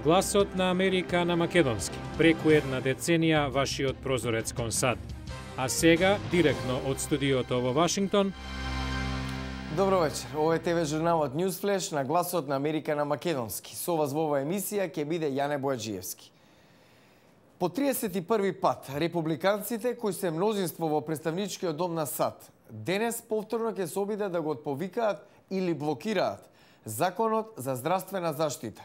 Гласот на Америка на македонски. Преку една деценија вашиот прозорец кон САД. А сега, директно од студиото во Вашингтон. Добро вечер. Ова е ТВ журналот Newsflash на Гласот на Америка на македонски. Со вас во оваа емисија ќе биде Јане Бојаджиевски. По 31 пат, републиканците кои се мнозинство во представничкиот дом на САД, денес повторно ќе се обидат да го отповикаат или блокираат законот за здравствена заштита.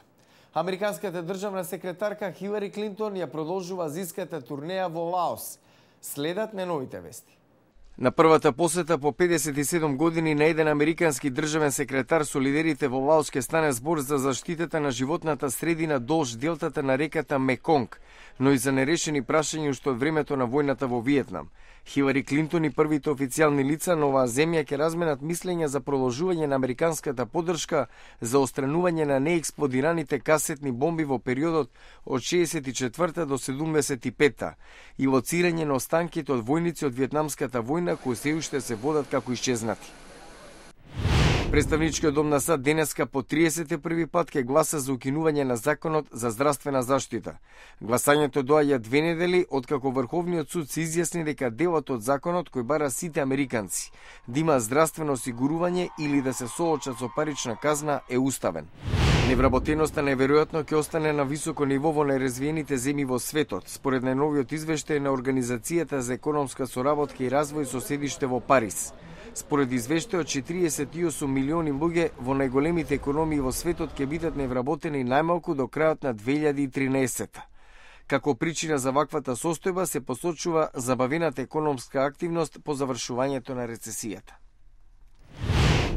Американската државна секретарка Хилари Клинтон ја продолжува зиската турнеја во Лаос. Следат неновите вести. На првата посета по 57 години на еден американски државен секретар со лидерите во Лаос ке стане збор за заштитата на животната средина долж делтата на реката Меконг, но и за нерешени прашања уште од времето на војната во Виетнам. Хилари Клинтон и првите официјални лица на оваа земја ќе разменат мислења за продолжување на американската поддршка за отстранување на неексплодираните касетни бомби во периодот од 64 до 75 и лоцирање на останките од војници од Виетнамската војна кои се уште се водат како исчезнати. Представничкиот дом на САД денеска по 31 пат ќе гласа за укинување на законот за здравствена заштита. Гласањето доаѓа 2 недели откако Врховниот суд се изјасни дека делот од законот кој бара сите американци да има здравствено осигурување или да се соочат со парична казна е уставен. Невработеноста неверојатно ќе остане на високо ниво во најразвиените земји во светот, според најновиот извештај на Организацијата за економска соработка и развој со седиште во Париз. Според извештајот, 48 милиони луѓе во најголемите економии во светот ќе бидат невработени најмалку до крајот на 2013. Како причина за ваквата состојба се посочува забавената економска активност по завршувањето на рецесијата.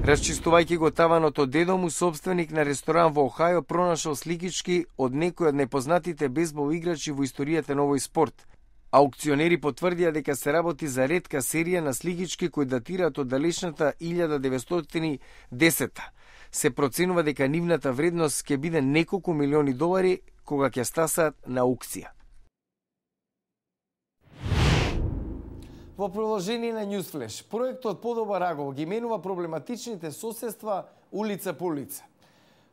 Расчистувајќи го таванот од дедо му, собственик на ресторан во Охајо пронашол сликички од некои од најпознатите бейсбол играчи во историјата на овој спорт. Аукционери потврдија дека се работи за ретка серија на сликички кои датираат од далечната 1910. Се проценува дека нивната вредност ќе биде неколку милиони долари кога ќе стасаат на аукција. Во продолжение на Newsflash, проектот Подобар Агол ги менува проблематичните соседства улица по улица.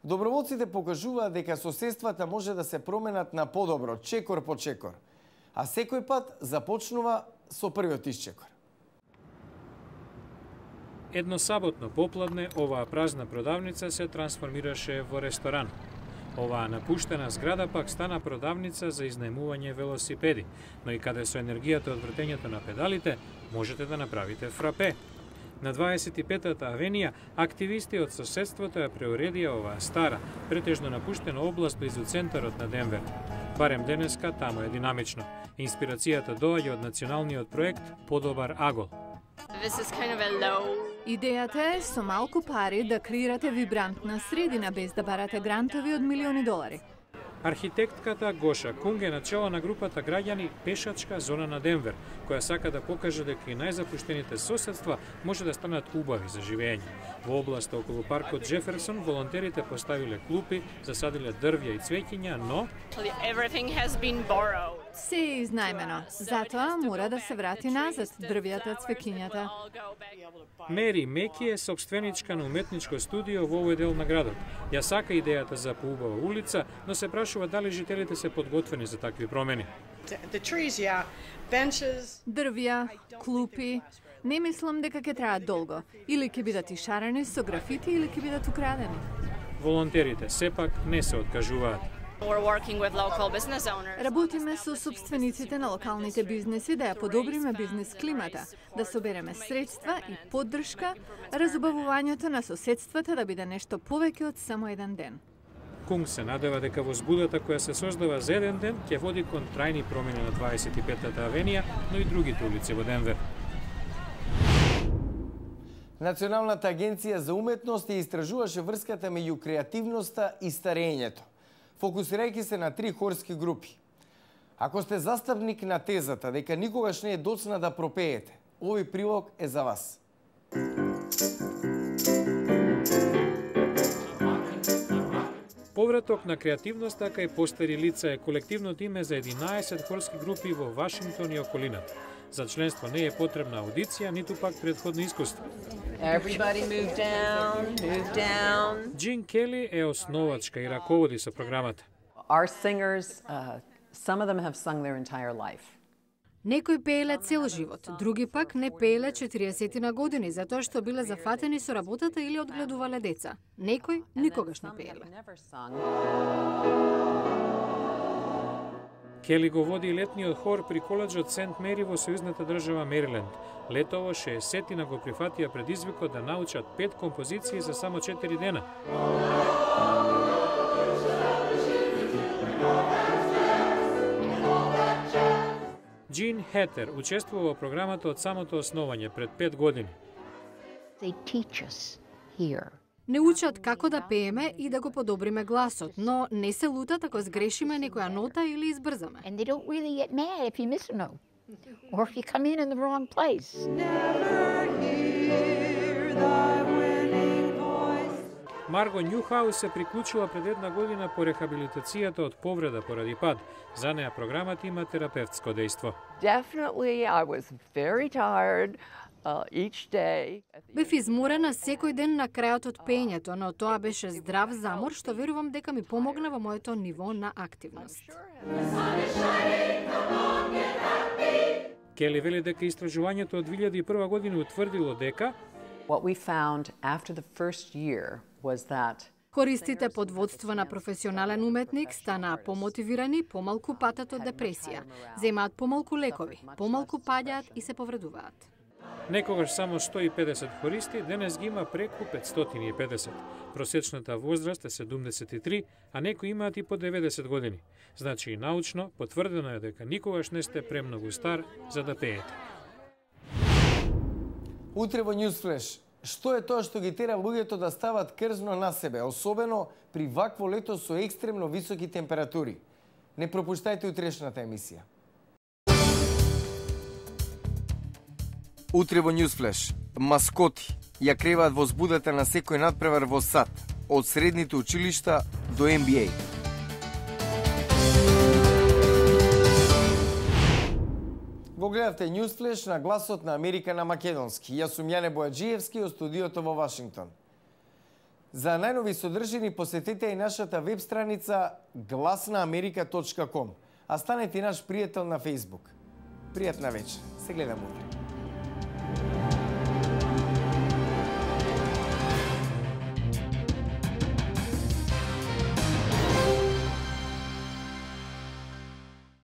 Доброволците покажуваат дека соседствата може да се променат на подобро, чекор по чекор. А секој пат започнува со првиот исчекор. Едно саботно попладне, оваа празна продавница се трансформираше во ресторан. Оваа напуштена зграда пак стана продавница за изнајмување велосипеди, но и каде со енергијата од вртењето на педалите можете да направите фрапе. На 25-та авенија, активисти од соседството ја преуредија оваа стара, претежно напуштена област близу центарот на Денвер. Барем денеска таму е динамично. Инспирацијата доаѓа од националниот проект Подобар Агол. Идејата е со малку пари да креирате вибрантна средина без да барате грантови од милиони долари. Архитектката Гоша Кунг е начело на групата граѓани Пешачка зона на Денвер, која сака да покаже дека и најзапуштените соседства може да станат убави за живење. Во областа околу паркот Джеферсон волонтерите поставиле клупи, засадиле дрвја и цвеќиња, но Се е изнајмено, затоа мора да се врати назад дрвјата, цвеќињата. Мери Меки е собственичка на уметничко студио во овој дел на градот. Ја сака идејата за поубава улица, но се прашува дали жителите се подготвени за такви промени. Дрвја, клупи, не мислам дека ќе траат долго. Или ќе бидат ишарени со графити, или ќе бидат украдени. Волонтерите сепак не се откажуваат. Работиме со собствениците на локалните бизнеси да ја подобриме бизнес климата, да собереме средства и поддршка, разубавувањето на соседствата да биде нешто повеќе од само еден ден. Кунг се надева дека возбудата која се создава за еден ден ќе води кон трајни промени на 25-та авенија, но и другите улици во Денвер. Националната агенција за уметност ја истражуваше врската меѓу креативноста и старењето, фокусирајќи се на 3 хорски групи. Ако сте застапник на тезата дека никогаш не е доцна да пропеете, овој прилог е за вас. Повраток на креативноста кај постари лица е колективното име за 11 хорски групи во Вашингтон и околината. За членство не е потребна аудиција, ниту пак претходно искуство. Джин Кели е основачка и раководи со програмата. Our singers, some of them have sung their entire life. Некои пееле цел живот, други пак не пееле 40 години затоа што биле зафатени со работата или одгледувале деца. Некои никогаш не пееле. Кели го води летниот хор при коледжот Сент Мери во сојузната држава Мериленд. Летово 60 го прифатија предизвикот да научат 5 композиции за само 4 дена. Джин Хетер учествува во програмата од самото основање пред 5 години. Не учат како да пееме и да го подобриме гласот, но не се лутат ако сгрешиме некоја нота или избрзаме. Марго Њухаус се приклучила пред 1 година по рехабилитацијата од повреда поради пад. За неа програмата има терапевтско дејство. Бев изморена секој ден на крајот од пеењето, но тоа беше здрав замор што верувам дека ми помогна во моето ниво на активност. Кели вели дека истражувањето од 2001 година утврдило дека What we found after the first year was that хористите под водство на професионален уметник станаа помотивирани, помалку патат од депресија, земаат помалку лекови, помалку паѓаат и се повредуваат. некогаш само 150 хористи, денес ги има преку 550. Просечната возраст е 73, а некои имаат и по 90 години. Значи и научно потврдено е дека никогаш не сте премногу стар за да пеете. Утре во Newsflash, што е тоа што ги тера луѓето да стават крзно на себе, особено при вакво лето со екстремно високи температури? Не пропуштајте утрешната емисија. Утре во Newsflash, маскоти ја креваат возбудата на секој надпревар во САД, од средните училишта до NBA. Го гледавте Newsflash на гласот на Америка на македонски. Јас сум Јане Бојаджиевски од студиото во Вашингтон. За најнови содржини посетете и нашата веб страница glasnaamerika.com, а станете наш пријател на Facebook. Пријатна вечер. Се гледам утре.